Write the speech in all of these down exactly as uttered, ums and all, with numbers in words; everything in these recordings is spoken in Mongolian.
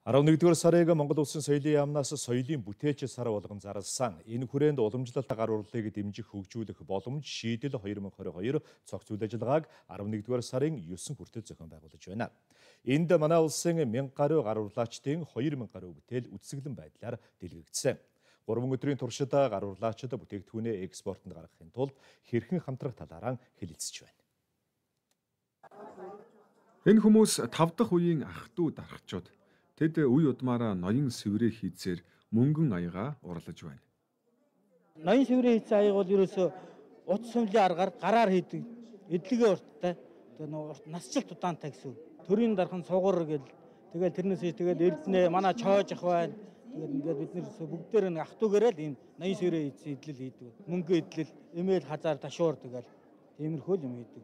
арван нэгдүгээр сарыг Монгол Улсын соёлын яамнаас соёлын бүтээч сар болгон зарласан. Энэ хүрээнд уламжлалт гар урлыг дэмжих хөгжүүлэх боломж шийдэл хоёр мың хорин хоёр цогц үйл ажиллагааг арван нэгдүгээр сарын есүн хүртэл зохион байгуулж байна. Энд манай улсын мянга гаруй гар урлаачдын хоёр мянга гаруй бүтээл үсгэлэн байдлаар дэлгэгдсэн. гурван өдрийн туршид гар урлаачид бүтээгдэхүүнээ экспортод гаргахын тулд хэрхэн хамтрах талаараа хэлэлцэж байна. Энэ хүмүүс тав дахь үеийн ах дүү дарагчид. Тэд үе удмаараа ноён сэврээ хийцээр мөнгөн аяга урлаж байна. Ноён сэврээ хийцээ аяга бол ерөөсөө утас сумлын аргаар гараар хийдэг. Эдлэгээ урттай. Тэгээ нөө насжилт удаантай гэсэн. Төрийн дархан сугар гэл тэгэл тэрнээсээ тэгэл эрдэнэ манай чоож ах байна. Тэгээд ингээд бид нэр бүгдээр нэг ах дүүгээрээ л ийм ноён сэврээ хийцээ эдлэл хийдэг. Мөнгө эдлэл, эмээл хазаар ташуур тэгэл тиймэрхүү юм хийдэг.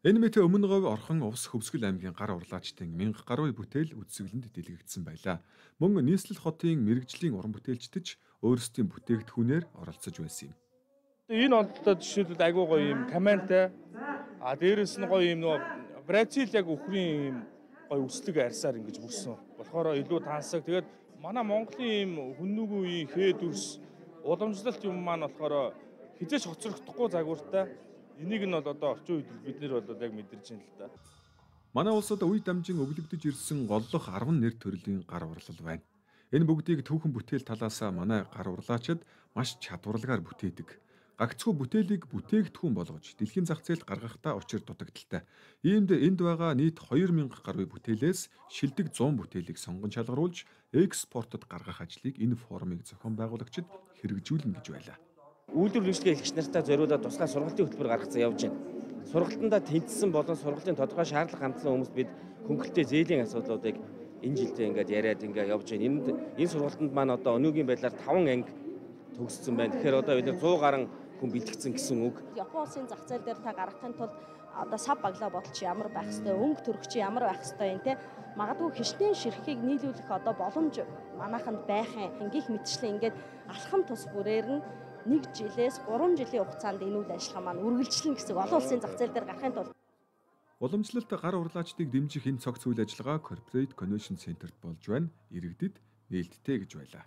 Энэ мэт өмнө говь орхон увс Хөвсгөл аймгийн гар урлаачдын мянга гаруй бүтээл үдсгэлэнд дэлгэгдсэн байлаа. Мөн нийслэл хотын мэрэгжлийн уран бүтээлчдэж өөрсдийн бүтээгдэхүүнээр оролцож байсан юм. Энэ онцлог жишээлбэл айгуу гоё юм камантай. А дээрэс нь гоё юм нөгөө Бразил яг өхрийн юм гоё үслэг арьсаар ингэж бүрсэн. Болохоор илүү тансаг. Тэгээд манай Монголын юм хүннүгүй үеийн хээ дүрс уламжлалт юм маань болохоор хизээч хоцрогдохгүй загвартай. Энийг нь бол одоо орчин үед бид нэр бол яг мэдэрч байна л да. Манай улсад үе дамжин өглөгдөж ирсэн голлох арван нэр төрлийн гар урлал байна. Энэ бүгдийг түүхэн бүтээл талаас манай гар урлаачид маш чадварлагаар бүтээдэг. Гагцхүү бүтээлийг бүтээгдэхүүн болгож дэлхийн зах зээлд гаргахтаа учир дутагдaltaй. Иймд энд байгаа нийт хоёр мянга гаруй бүтээлээс шилдэг зуун бүтээлийг сонгон шалгаруулж экспортод гаргах ажлыг энэ форумыг зохион байгуулагчид хэрэгжүүлнэ гэж байлаа. Үйлдвэр үйлчлэгээ хэлэгч нартаа зориулаад туслах сургалтын хөтөлбөр гаргацсан явж байна. Сургалтандаа тэнцсэн болон сургалтын тодорхой шаардлага хандсан хүмүүст бид хөнгөлөлтөө зээлийн асуудлуудыг энэ жилдээ ингээд яриад ингээд явж байна. Энд энэ сургалтанд маань одоо өнөөгийн байдлаар таван анги төгссөн байна. Тэгэхээр одоо бид сто гаруй хүн бэлтгэсэн гэсэн үг. Япон улсын зах зээл дээр та гаргахын тулд одоо сав баглаа бодолч ямар байх хэвээр, өнгө төрөх чи ямар байх хэвээр юм те. Магадгүй хичнээн ширхгийг нийлүүлэх одоо боломж манайханд байх юм. Ингээх мэтчлэн ингээд алхам тус бүрээр нь нэг жилээс гурван жилийн хугацаанд энэ үйл ажиллагаа маань үргэлжлэнэ гэсэн олон улсын зах зээл дээр гарахын тулд уламжлалт гар урлаачдыг дэмжих энэ цогц үйл ажиллагаа Corporate Convention Center-т болж байна. Иргэдэд нээлттэй гэж байлаа.